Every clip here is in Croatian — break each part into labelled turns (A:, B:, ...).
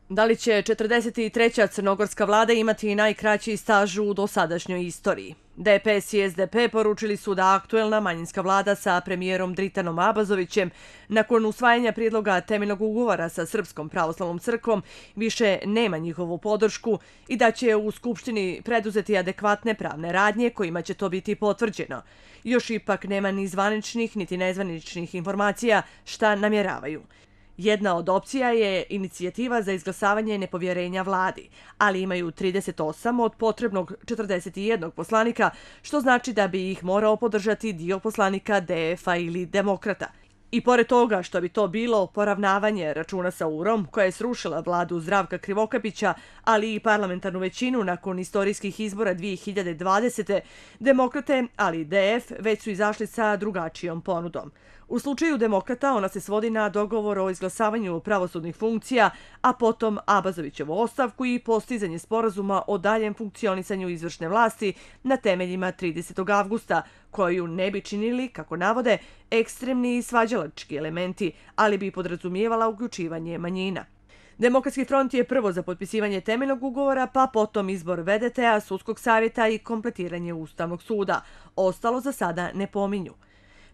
A: Da li će 43. crnogorska vlada imati najkraći staž u dosadašnjoj istoriji? DPS i SDP poručili su da aktuelna manjinska vlada sa premijerom Dritanom Abazovićem nakon usvajanja prijedloga temeljnog ugovora sa Srpskom pravoslavnom crkvom više nema njihovu podršku i da će u Skupštini preduzeti adekvatne pravne radnje kojima će to biti potvrđeno. Još ipak nema ni zvaničnih niti nezvaničnih informacija šta namjeravaju. Jedna od opcija je inicijativa za izglasavanje nepovjerenja vladi, ali imaju 38 od potrebnog 41 poslanika, što znači da bi ih morao podržati dio poslanika DF-a ili Demokrata. I pored toga što bi to bilo poravnavanje računa sa UR-om, koja je srušila vladu Zdravka Krivokapića, ali i parlamentarnu većinu nakon istorijskih izbora 2020. Demokrate, ali i DF, već su izašli sa drugačijom ponudom. U slučaju Demokrata ona se svodi na dogovor o izglasavanju pravosudnih funkcija, a potom Abazovićevu ostavku i postizanje sporazuma o daljem funkcionisanju izvršne vlasti na temeljima 30. avgusta, koju ne bi činili, kako navode, ekstremni i svađalački elementi, ali bi podrazumijevala uključivanje manjina. Demokratski front je prvo za potpisivanje temeljnog ugovora, pa potom izbor VDT-a, sudskog savjeta i kompletiranje Ustavnog suda. Ostalo za sada ne pominju.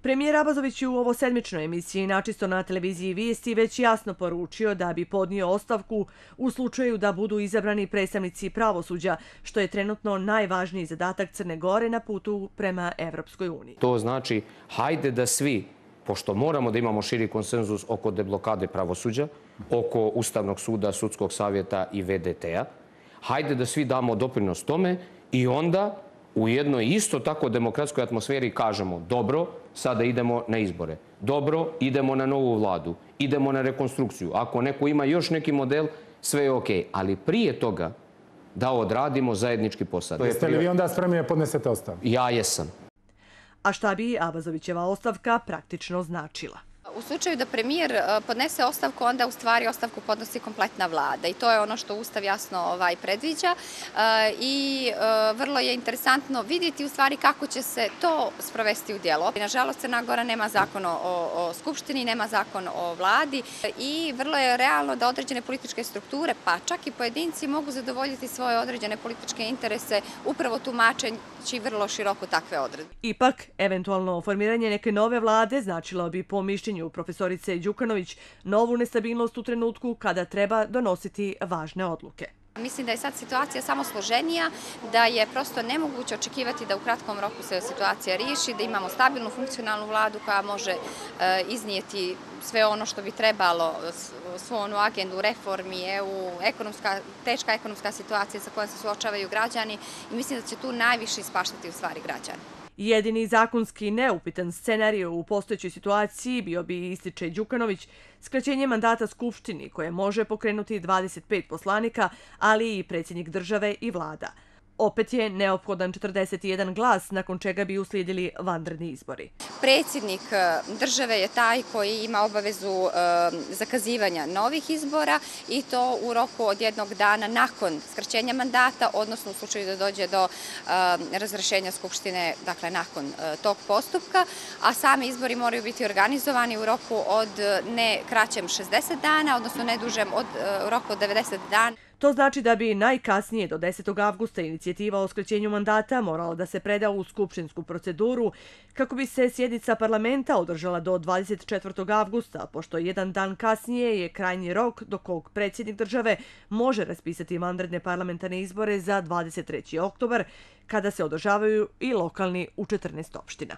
A: Premijer Abazović je u ovosedmičnoj emisiji načisto na televiziji Vijesti već jasno poručio da bi podnio ostavku u slučaju da budu izabrani predstavnici pravosuđa, što je trenutno najvažniji zadatak Crne Gore na putu prema Evropskoj uniji.
B: To znači, hajde da svi, pošto moramo da imamo širi konsenzus oko deblokade pravosuđa, oko Ustavnog suda, Sudskog savjeta i VDT-a, hajde da svi damo doprinos tome i onda u jednoj isto tako demokratskoj atmosferi kažemo dobro, sada idemo na izbore. Dobro, idemo na novu vladu. Idemo na rekonstrukciju. Ako neko ima još neki model, sve je okej. Ali prije toga da odradimo zajednički posao.
C: Jeste li vi onda spremni da podnesete ostavku?
B: Ja jesam.
A: A šta bi Abazovićeva ostavka praktično značila?
D: U slučaju da premijer podnese ostavku, onda u stvari ostavku podnosi kompletna vlada i to je ono što Ustav jasno predviđa i vrlo je interesantno vidjeti u stvari kako će se to sprovesti u djelo. Nažalost, Crna Gora nema zakon o Skupštini, nema zakon o vladi i vrlo je realno da određene političke strukture, pa čak i pojedinci, mogu zadovoljiti svoje određene političke interese upravo tumačeći vrlo široko takve odredbe.
A: Ipak, eventualno formiranje neke nove vlade značilo bi po mišljenju profesorice Đukanović novu nestabilnost u trenutku kada treba donositi važne odluke.
D: Mislim da je sad situacija samo složenija, da je prosto nemoguće očekivati da u kratkom roku se situacija riješi, da imamo stabilnu, funkcionalnu vladu koja može iznijeti sve ono što bi trebalo, svu onu agendu reformi, teška ekonomska situacija sa kojom se suočavaju građani i mislim da će tu najviše ispaštati u stvari građani.
A: Jedini zakonski neupitan scenarij u postojećoj situaciji bio bi, ističe Đukanović, skraćenje mandata Skupštini koje može pokrenuti 25 poslanika, ali i predsjednik države i vlada. Opet je neophodan 41 glas, nakon čega bi uslijedili vanredni izbori.
D: Predsjednik države je taj koji ima obavezu zakazivanja novih izbora i to u roku od jednog dana nakon skraćenja mandata, odnosno u slučaju da dođe do razrješenja Skupštine, dakle nakon tog postupka, a sami izbori moraju biti organizovani u roku od ne kraćem 60 dana, odnosno ne dužem od roku od 90 dana.
A: To znači da bi najkasnije do 10. avgusta inicijativa o skraćenju mandata morala da se preda u skupštinsku proceduru kako bi se sjednica parlamenta održala do 24. avgusta, pošto jedan dan kasnije je krajnji rok do kog predsjednik države može raspisati vanredne parlamentarne izbore za 23. oktobar, kada se održavaju i lokalni u 14 opština.